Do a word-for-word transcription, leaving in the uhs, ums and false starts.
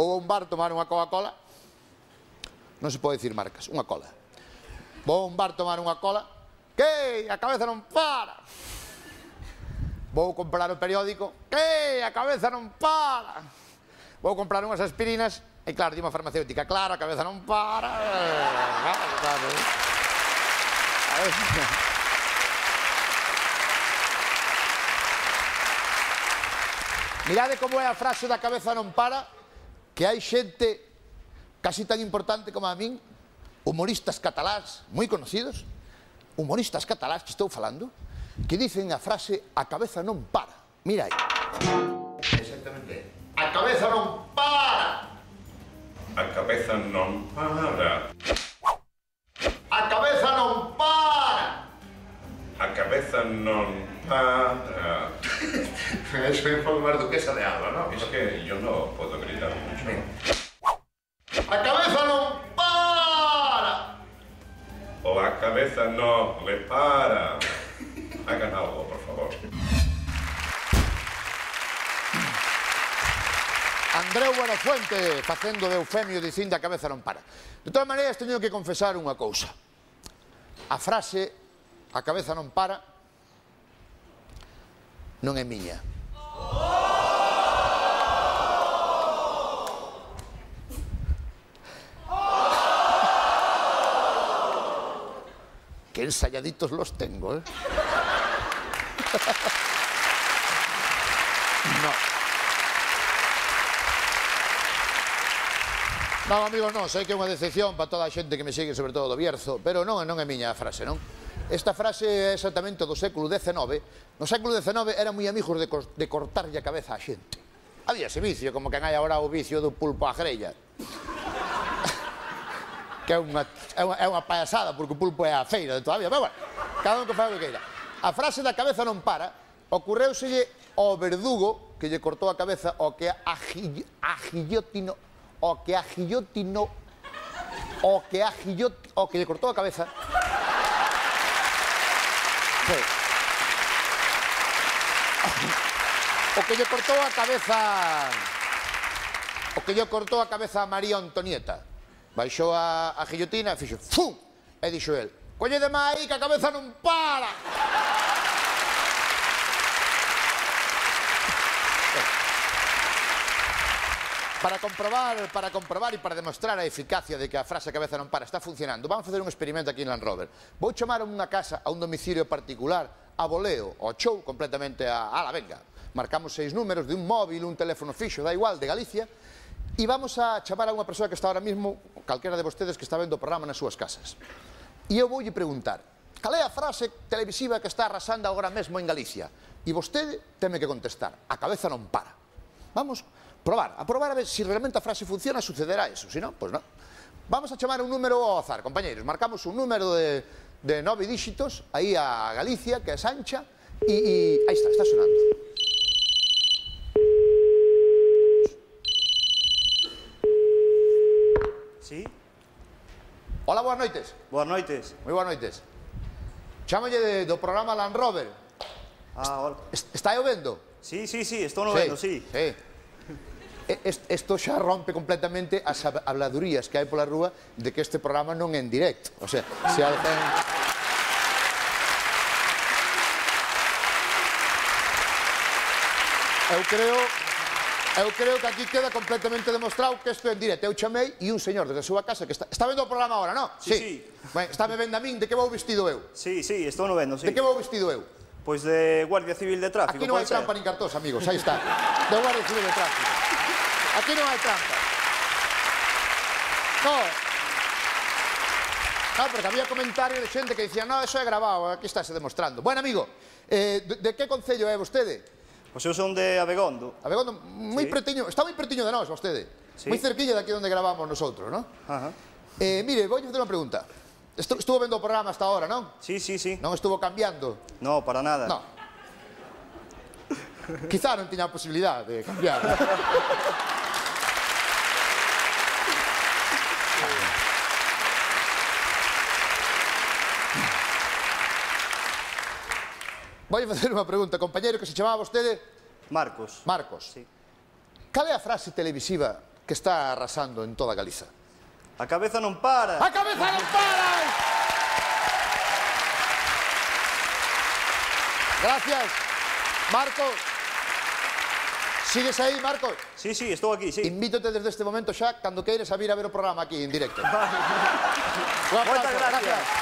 Vou a un bar tomar unha Coca-Cola. Non se pode dicir marcas, unha cola. Vou a un bar tomar unha cola. Que? A cabeza non para. Vou comprar o periódico. Que? A cabeza non para. Vou comprar unhas aspirinas. E claro, di unha farmacéutica, claro, a cabeza non para. Claro, claro. Mirade como é a frase da cabeza non para, que hai xente casi tan importante como a min, humoristas catalás moi conocidos, humoristas catalás que estou falando, que dicen a frase a cabeza non para. Mira aí. Exactamente. A cabeza non para. A cabeza non para. A cabeza non para. A cabeza non para. Eso é un pouco máis duquesa de Alba, non? Es que yo no puedo gritar mucho. A cabeza non para. O a cabeza no le para. Hagan algo, por favor. Andreu Buenafuente facendo de Eufemio dicindo a cabeza non para. De todas maneiras, teño que confesar unha cousa. A frase a cabeza non para non é miña. Que ensayaditos los tengo, ¿eh? No. Non, amigos, non, sei que é unha decepción para toda a xente que me sigue, sobre todo do Bierzo, pero non, non é miña a frase, non? Esta frase é exactamente do século decenove. No século decenove eran moi amigos de, de cortarlle a cabeza a xente. Había ese vicio, como que hai agora o vicio do pulpo á grella. Que é unha, é unha, é unha payasada, porque o pulpo é a feira de todavía, pero bueno, cada un que fai o que queira. A frase da cabeza non para, ocorreuselle ao verdugo que lle cortou a cabeza o que a guillotino, o que a guillotino, o que a guillotino, o que lle cortou a cabeza. Sí. O que lle cortou a cabeza, o que lle cortou a cabeza a María Antonieta. Baixou a, a guillotina e fixo ¡fum! E dixo el, collede máis que a cabeza non para. Para comprobar, para comprobar e para demostrar a eficacia de que a frase a cabeza non para está funcionando, vamos a facer un experimento aquí en Land Rover. Vou chamar a unha casa, a un domicilio particular, a voleo, ao show, completamente a... Ala, venga, marcamos seis números de un móvil, un teléfono fixo, da igual, de Galicia, e vamos a chamar a unha persoa que está ahora mismo, calquera de vostedes que está vendo o programa nas súas casas. E eu voulle preguntar, cal é a frase televisiva que está arrasando agora mesmo en Galicia? E vostede teme que contestar, a cabeza non para. Vamos probar, a probar a ver se realmente a frase funciona, sucederá eso, se non, pois non. Vamos a chamar un número ao azar, compañeros, marcamos un número de, de nove díxitos, aí a Galicia, que é Sancha, e, e aí está, está sonando. Sí? Hola, boas noites. Boas noites. Moi boas noites. Chámolle de, do programa Land Rover. Ah, hola. Est, está eu vendo? Sí, sí, sí, estou no vendo, sí. Sí. Isto xa rompe completamente as habladurías que hai pola rúa de que este programa non é en directo. O sea, se alguén... Eu creo... Eu creo que aquí queda completamente demostrado que isto é en directo. Eu chamei e un señor desde a súa casa que está... Está vendo o programa agora, non? Sí, sí. Ben, está me vendo a min de que vou vestido eu. Sí, sí, estou no vendo, sí. De que vou vestido eu? Pois de Guardia Civil de Tráfico, aquí non hai trampa nin cartós, amigos, aí está. De Guardia Civil de Tráfico. Aquí non hai trampa. No. No, porque había comentarios de xente que dicía, no, eso é grabado, aquí estáse demostrando. Bueno, amigo, eh, de, de que concello é vostede? Pois eu son de Abegondo. Abegondo, moi sí. Pretiño, está moi pretiño de nós, vostede. Sí. Moi cerquilla de aquí onde gravamos nosotros, non? Ajá. Eh, mire, vou facer unha pregunta. Estu, estuvo vendo o programa hasta ahora, non? Sí, sí, sí. Non estuvo cambiando? No, para nada. No. Quizá non tiña a posibilidad de cambiar. Vou facer unha pregunta, compañero, que se chamaba vostede? Marcos. Marcos. Sí. Cal é a frase televisiva que está arrasando en toda Galiza. A cabeza non para. A cabeza non para! Gracias. Marcos. Sigues aí, Marcos? Sí, sí, estou aquí, sí. Invítote desde este momento xa, cando queires, a vir a ver o programa aquí en directo. Moitas gracias.